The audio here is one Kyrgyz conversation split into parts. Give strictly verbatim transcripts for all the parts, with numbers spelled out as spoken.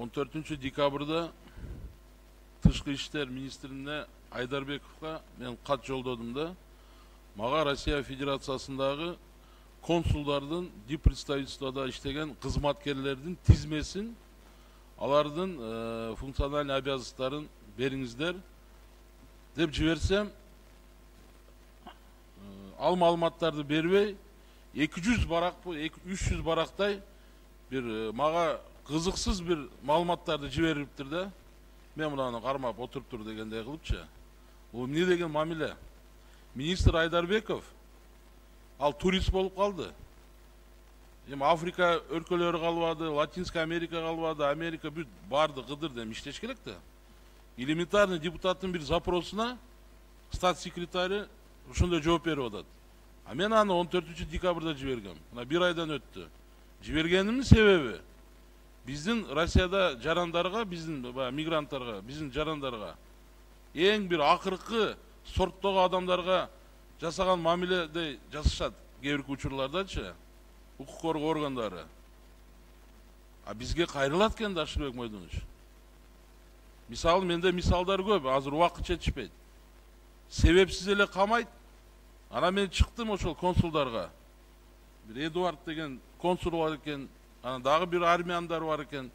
он төртүнчү декабрда Тышкы иштер министрине Айдарбековго мен кат жолдодум да, мага Россия Федерациясындагы консулдардын диппредставительствода иштеген кызматкерлердин тизмесин, алардын э, функциональный обязанностьтарын бериңиздер деп жиберсем, э, ал маалыматтарды бербей эки жүз барак, үч жүз барактай бир э, мага кызыксыз бир маалыматтарды жибериптир да. Мен мынаны кармап отуруптур дегендей кылыпчы. Бул эмне деген мамиле? Министр Айдарбеков ал турист болуп калды. Эми Африка өлкөлөрү калбады, Латинская Америка калбады, Америка бүт барды кыдыр дем иштеш керек да. Элементарный депутаттын бир запросуна стат секретары ошондой жооп берип атат. А мен аны он төртүнчү декабрда жибергем. Мына бир айдан өттү. Жибергенимдин себеби биздин Россияда жарандарга, биздин мигранттарга, биздин жарандарга эң бир акыркы сорттогу адамдарга жасаган мамиледе жасашат кээ бир учурлардачы, укук коргоо органдары. А бизге кайрылат экен да Ашырбек Мойдонович. Мисалы менде мисалдар көп, азыр убакыт жетишпейт. Себепсиз эле камайт. Ана мен чыктым ошол консулдарга. Бир Эдуард деген консул бар экен, анан дагы бир армияндар бар экен.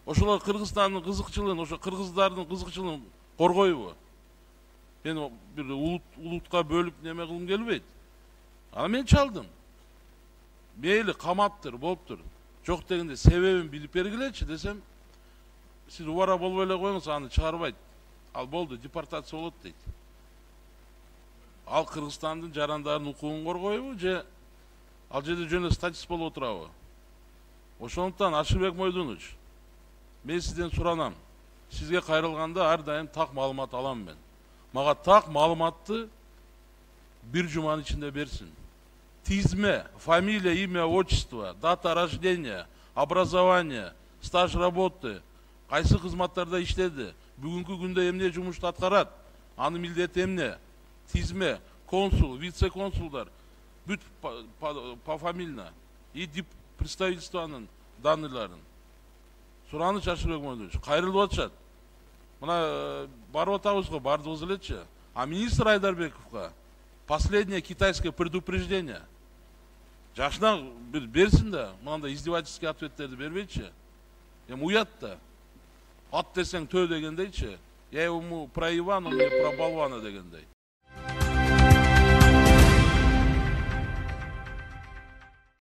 Ошолор Кыргызстандын кызыкчылыгын, ошо кыргыздардын кызыкчылыгын коргойбу? Мен бир улутка бөлүп неме кылгым келбейт. Ана мен чалдым. Мейли камаптыр, болуптур. Жок дегенде себебин билип бергилечи десем, сиз убара болбой эле коюңуз, аны чыгарбайт. Ал болду, депортация болот дейт. Ал Кыргызстандын жарандарынын укугун коргойбу же ал жерде жөн эле статист болуп отурабы? Ошондуктан Ашырбек Мойдонович, мен сизден суранам. Сизге кайрылганда ар дайым так маалымат алам мен. Мага так маалыматты бир жуманын ичинде берсин. Тизме, фамилия, имя, отчество, дата рождения, образование, стаж работы, кайсы кызматтарда иштеди, бүгүнкү күндө эмне жумушту аткарат, анын милдети эмне, тизме, консул, вице-консулдар, бүт пофамильно и представительствонун данныйларын. Сураныч Ашырбек Мойдонович, кайрылып атышат. Мына барып атабыз го, бардыгыбыз элечи. А министр Айдарбековго последнее китайское предупреждение. Жашына бир берсин да, мынандай издевательский ответтерди бербейчи. Эми уят да. Ат десең төө дегендейчи. Я ему про Ивана, мне про болвана дегендей.